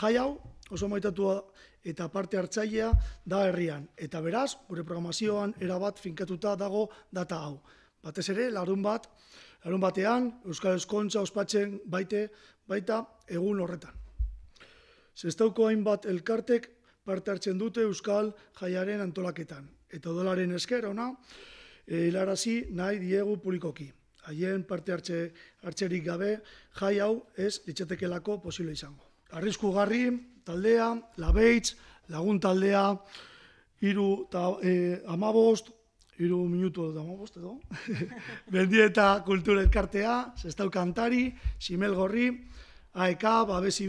Jai hau oso maitatua eta parte hartzailea da herrian, eta beraz, gure programazioan erabat finkatuta dago data hau. Batez ere, larun batean, Euskal Eskontza ospatzen baita egun horretan. Sestauko hainbat elkartek parte hartzen dute Euskal Jaiaren antolaketan, eta udalaren esker ona, hilarazi nahi diegu publikoki. Haien parte hartzerik gabe, jai hau ez litzatekelako posible izango. Arriskugarri taldea, Labeitz, Lagun taldea, 3 minutu eta 15 edo, Mendieta Kultura Elkartea, Sestau Kantari, Simel Gorri, AEK, Babes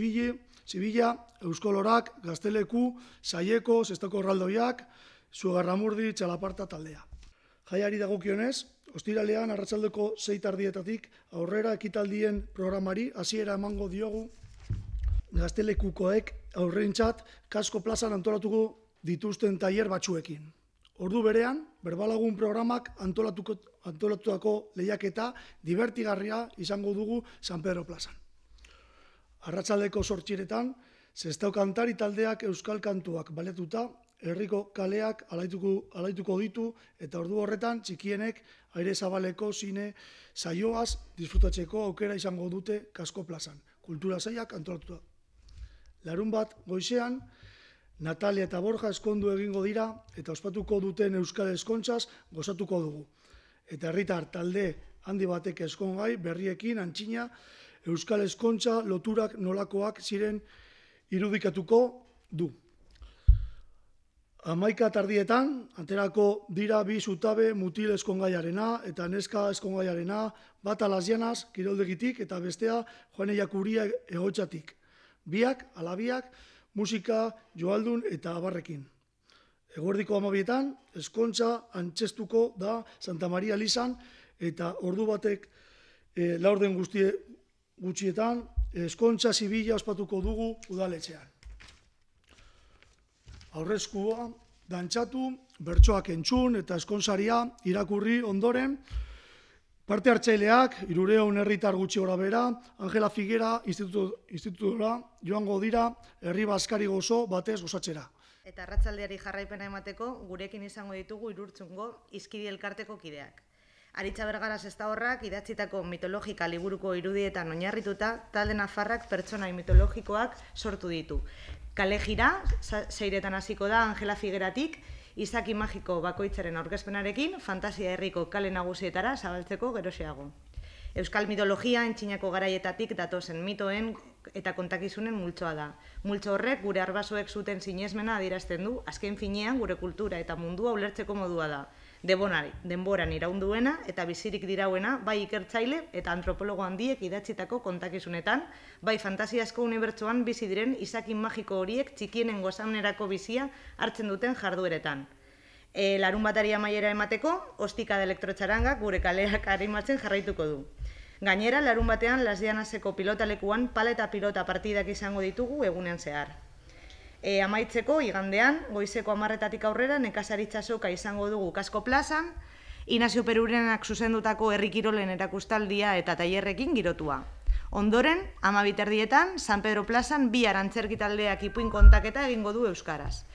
Zibila, Euskolorak, Gazteleku, Saieko, Sestauko Erraldoiak, Zugarramurdi, Txalaparta taldea. Jaiari dagokionez, ostiralean arratsaldeko 6:30 aurrera ekitaldien programari hasiera emango diogu Gaztelekukoek aurrentzat Kasko plazan antolatuko dituzten tailer batzuekin. Ordu berean, Berbalagun programak antolatutako lehiaketa dibertigarria izango dugu San Pedro plazan. Arratsaldeko 8:00 Sestau Kantari taldeak euskal kantuak baletuta, herriko kaleak alaituko ditu eta ordu horretan txikienek aire zabaleko zine saioaz disfrutatzeko aukera izango dute Kasko plazan. Kultura sailak antolatuta. Larunbat goizean, Natalia eta Borja eskondu egingo dira eta ospatuko duten Euskal Eskontzaz gozatuko dugu. Eta herritar talde handi batek eskongai berriekin antzina Euskal Eskontza loturak nolakoak ziren irudikatuko du. 11:00 aterako dira bi zutabe mutil eskongaiarena eta neska eskongaiarena, bata Las Llanas kiroldegitik eta bestea Juane Jakuria Egotxatik. Biak, alabiak, musika, joaldun eta abarrekin. Eguerdiko 12:00 eskontza antzestuko da Santa Maria Elizan eta ordu batek laurden gutxietan eskontza zibila ospatuko dugu udaletxean. Aurreskua dantzatu, bertsoak entzun eta eskonsaria irakurri ondoren, parte hartzaileak, 300 herritar gutxi gorabehera, Angela Figuera institutura joango dira herri bazkari gozo batez gozatzera. Eta arratsaldeari jarraipena emateko, gurekin izango ditugu Irurtzungo Izkidi Elkarteko kideak. Aritza Bergara Sestaorrak idatzitako mitologika liburuko irudietan oinarrituta, talde nafarrak pertsonai mitologikoak sortu ditu. Kale jira, 6:00 hasiko da Angela Figueratik, izaki magiko bakoitzaren aurkezpenarekin, fantasia herriko kale nagusietara zabaltzeko geroxeago. Euskal mitologia antzinako garaietatik datozen mitoen eta kontakizunen multzoa da. Multzo horrek gure arbasoek zuten sinesmena adierazten du, azken finean gure kultura eta mundua ulertzeko modua da. Denboran iraunduena eta bizirik dirauena, bai ikertzaile eta antropologo handiek idatzitako kontakizunetan, bai fantasiazko unibertsoan bizi diren izaki magiko horiek txikienen gozamenerako bizia hartzen duten jardueretan. Larunbatari amaiera emateko, Ostika de Elektrotxarangak gure kaleak animatzen jarraituko du. Gainera, larunbatean Las Llanaseko pilotalekuan pala eta pilota partidak izango ditugu egunean zehar. Amaitzeko, igandean, goizeko 10:00 aurrera nekazaritza soka izango dugu Kasko plazan, Inazio Perurenak zuzendutako herri kirolen erakustaldia eta tailerrekin girotua. Ondoren, 12:30 San Pedro plazan bi antzerki taldeak ipuin kontaketa egingo du euskaraz.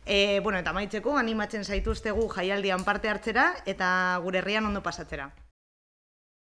Eta amaitzeko, animatzen zaituztegu jaialdian parte hartzera eta gure herrian ondo pasatzera.